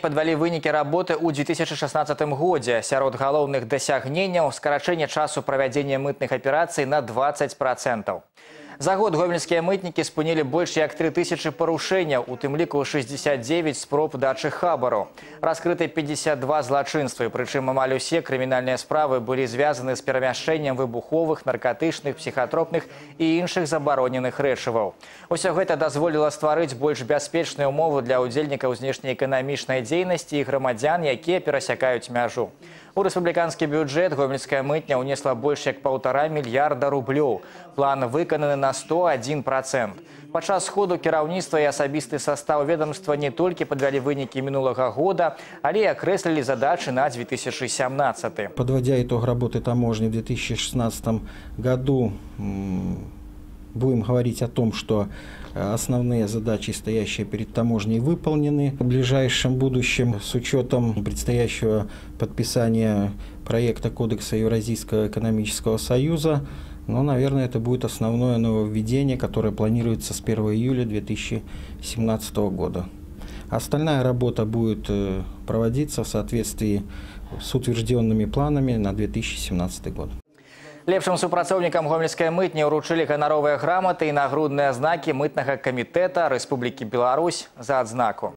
Подвялі вынікі работы ў 2016 годзе. Сярод галоўных дасягненняў скарачэнне часу правядзення мытных аперацый на 20%. За год гомельскія мытнікі спынілі больш як 3000 парушэнняў, у тым ліку 69 спроб дачы хабару. Раскрыты 52 злачынствы, прычым амаль усе крымінальныя справы былі звязаны з перамяшчэннем выбуховых, наркатычных, псіхатропных і іншых забароненых рэчываў. Усё гэта дазволіла стварыць больш бяспечную умову для ўдзельнікаў знешнеэканамічнай дзейнасці і грамадзян, якія перасякаюць мяжу. У рэспубліканскі бюджэт гомельская мытня ўнесла больш як 1,5 мільярда рублёў. План выкананы на 101%. Падчас сходу кіраўніцтва і асабісты састаў ведомства не толькі падвялі вынікі мінулага года, але і акрэслілі задачы на 2017. Подводя итог работы таможни в 2016 году, будем говорить о том, что основные задачи, стоящие перед таможней, выполнены. В ближайшем будущем, с учетом предстоящего подписания проекта Кодекса Евразийского экономического союза, наверное, это будет основное нововведение, которое планируется с 1 июля 2017 года. Остальная работа будет проводиться в соответствии с утвержденными планами на 2017 год. Лепшым супрацоўнікам гомельскай мытні ўручылі ганаровыя граматы і нагрудныя знакі мытнага камітэта Рэспублікі Беларусь за адзнаку.